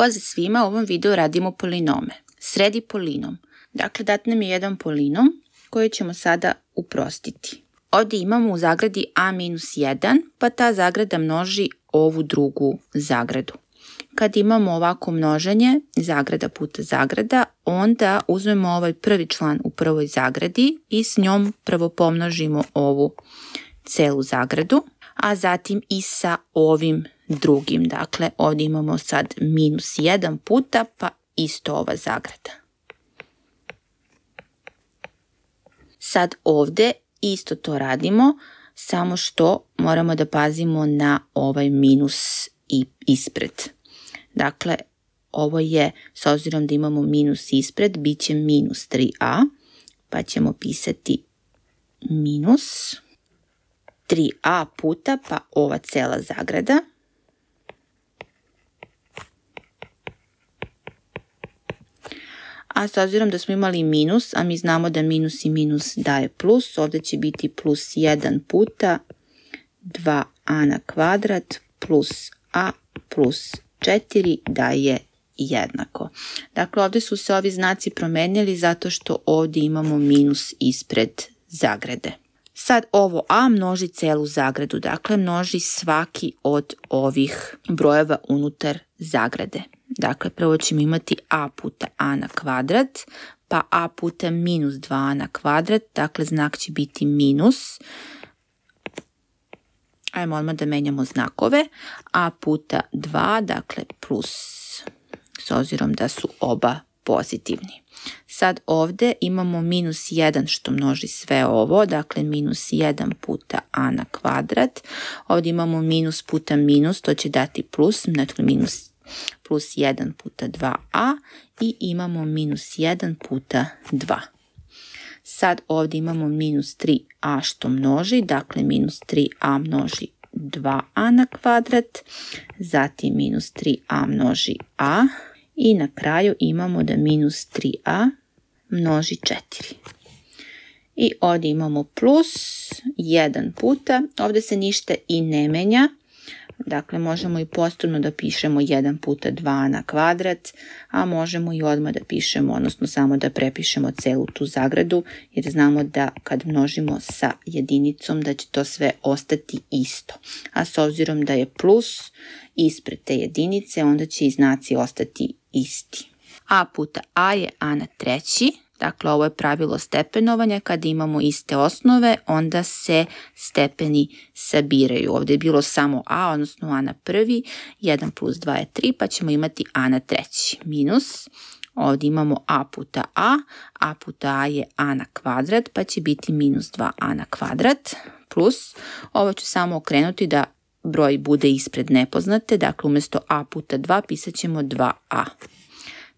Pozdrav svima, u ovom videu radimo polinome. Sredi polinom. Dakle, dat nam je jedan polinom koji ćemo sada uprostiti. Ovdje imamo u zagradi a-1, pa ta zagrada množi ovu drugu zagradu. Kad imamo ovako množenje, zagrada puta zagrada, onda uzmemo ovaj prvi član u prvoj zagradi i s njom prvo pomnožimo ovu celu zagradu, a zatim i sa ovim drugim. Dakle, ovdje imamo sad -1 puta, pa isto ova zagrada. Sad ovdje isto to radimo, samo što moramo da pazimo na ovaj minus i ispred. Dakle, ovo je, s obzirom da imamo minus ispred, bit će -3a, pa ćemo pisati minus 3a puta, pa ova cela zagrada. A s obzirom da smo imali minus, a mi znamo da minus i minus daje plus, ovdje će biti +1 puta 2a na kvadrat plus a plus 4 daje jednako. Dakle, ovdje su se ovi znaci promenili zato što ovdje imamo minus ispred zagrade. Sad ovo a množi celu zagradu, dakle množi svaki od ovih brojeva unutar zagrade. Dakle, prvo ćemo imati a puta a na kvadrat, pa a puta -2a na kvadrat, dakle znak će biti minus. Ajmo odmah da menjamo znakove. A puta 2, dakle plus, s obzirom da su oba pozitivni. Sad ovdje imamo -1 što množi sve ovo, dakle -1 puta a na kvadrat. Ovdje imamo minus puta minus, to će dati plus, dakle +1 puta 2a i imamo -1 puta 2. Sad ovdje imamo -3a što množi, dakle -3a množi 2a na kvadrat, zatim -3a množi a i na kraju imamo da -3a množi 4. I ovdje imamo plus 1 puta, ovdje se ništa i ne menja. Dakle, možemo i posebno da pišemo 1 puta 2 na kvadrat, a možemo i odmah da pišemo, odnosno samo da prepišemo celu tu zagradu, jer znamo da kad množimo sa jedinicom da će to sve ostati isto. A s obzirom da je plus ispred te jedinice, onda će i znaci ostati isti. A puta a je a na treći. Dakle, ovo je pravilo stepenovanja. Kada imamo iste osnove, onda se stepeni sabiraju. Ovdje je bilo samo a, odnosno a na prvi. 1 plus 2 je 3, pa ćemo imati a na treći. Minus. Ovdje imamo a puta a puta a je a na kvadrat, pa će biti -2a na kvadrat. Plus, ovo ću samo okrenuti da broj bude ispred nepoznate. Dakle, umjesto a puta 2 pisat ćemo 2a.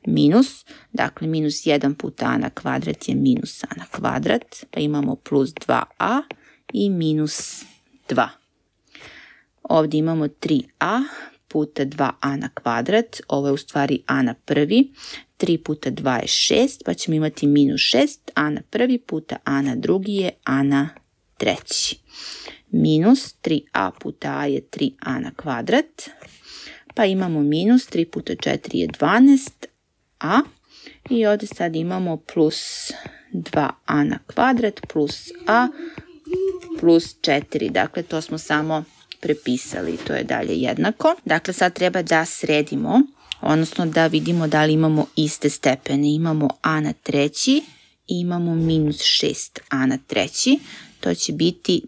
Minus, dakle -1 puta a na kvadrat je -a na kvadrat, pa imamo plus 2a i -2. Ovdje imamo 3a puta 2a na kvadrat, ovo je u stvari a na prvi, 3 puta 2 je 6, pa ćemo imati -6, a na prvi puta a na drugi je a na treći. Minus 3a puta a je 3a na kvadrat, pa imamo minus 3 puta 4 je 12a i ovdje sad imamo plus 2a na kvadrat plus a plus 4. Dakle, to smo samo prepisali, to je dalje jednako. Dakle, sad treba da sredimo, odnosno da vidimo da li imamo iste stepene. Imamo a na treći i imamo -6a na treći. To će biti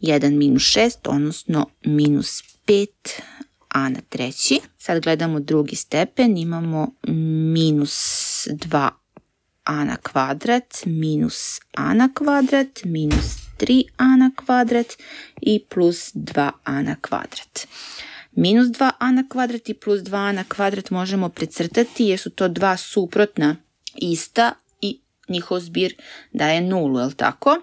1 - 6, odnosno -5a na treći. Sad gledamo drugi stepen, imamo -2a na kvadrat, -a na kvadrat, -3a na kvadrat i plus 2a na kvadrat. -2a na kvadrat i plus 2a na kvadrat možemo precrtati jer su to dva suprotna ista i njihov zbir daje 0, je li tako?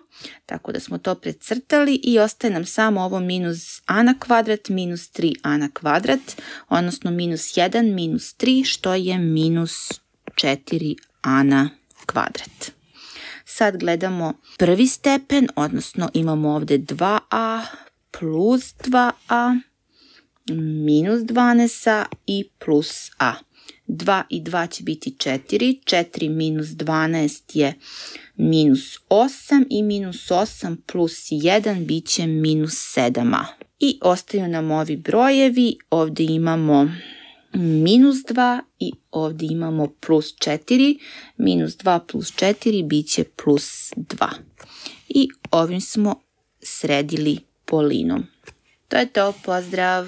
Tako da smo to precrtali i ostaje nam samo ovo -a na kvadrat, -3a na kvadrat, odnosno -1, -3, što je -4a na kvadrat. Sad gledamo prvi stepen, odnosno imamo ovdje 2a plus 2a, -12a i plus a. 2 i 2 će biti 4. 4 minus 12 je minus 8 i minus 8 plus 1 bit će minus 7a. I ostaju nam ovi brojevi. Ovdje imamo minus 2 i ovdje imamo plus 4. Minus 2 plus 4 bit će plus 2. I ovim smo sredili polinom. To je to, pozdrav!